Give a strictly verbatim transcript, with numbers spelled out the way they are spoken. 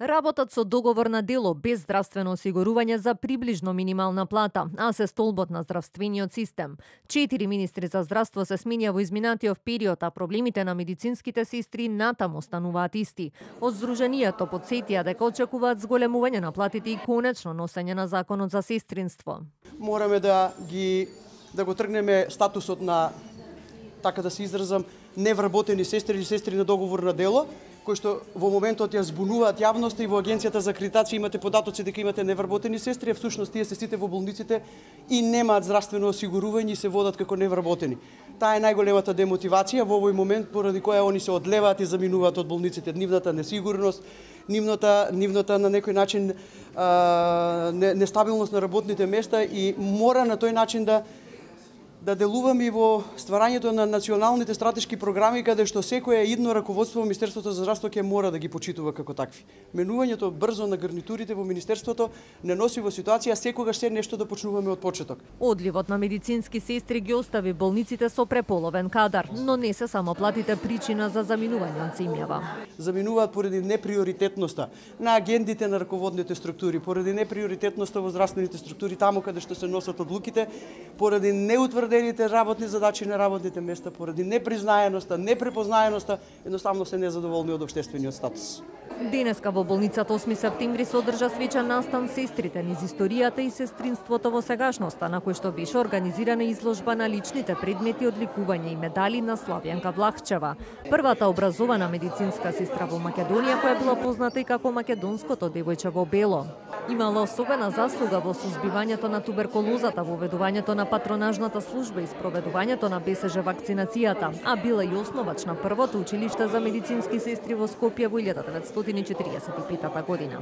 Работат со договор на дело без здравствено осигурување за приближно минимална плата, а се столбот на здравствениот систем. Четири министри за здравство се сменија во изминатиот период, а проблемите на медицинските сестри натаму остануваат исти. Од Сдруженијето потсетија дека очекуваат зголемување на платите и конечно носење на законот за сестринство. Мораме да ги да го тргнеме статусот на, така да се изразам, невработени сестри или сестри на договор на дело, кои што во моментот ја збунуваат јавноста и во Агенцијата за акредитација имате податоци дека имате невработени сестри, а всушност тие се сите во болниците и немаат здравствено осигурување и се водат како невработени. Таа е најголемата демотивација во овој момент поради која они се одлеваат и заминуваат од болниците. Нивната несигурност, нивната нивната на некој начин а, нестабилност на работните места и мора на тој начин да да делуваме и во стварањето на националните стратешки програми, каде што секоја идно раководство во Министерството за здравство ќе мора да ги почитува како такви. Менувањето брзо на гарнитурите во Министерството не носи во ситуација секогаш се нешто да почнуваме од почеток. Одливот на медицински сестри ги остави болниците со преполовен кадар, но не се само платите причина за заминување од земјава. Заминуваат поради неприоритетноста на агендите на раководните структури, поради неприоритетноста во здравствените структури таму каде што се носат одлуките, поради неутврдените работни задачи на работните места, поради непризнаеноста, непрепознаеноста, едноставно се незадоволни од општествениот статус. Денеска во болницата осми септември се одржа свечен настан сестрите низ историјата и сестринството во сегашноста, на кој што беше организирана изложба на личните предмети од ликување и медали на Славјанка Влахчева, првата образована медицинска сестра во Македонија која била позната и како македонското девојче во бело. Имала особена заслуга во сузбивањето на туберкулозата, во ведувањето на патронажната служба и спроведувањето на БСЖ вакцинацијата, а била и основач на првото училиште за медицински сестри во Скопје во илјада деветстотини и четиридесет и петата година.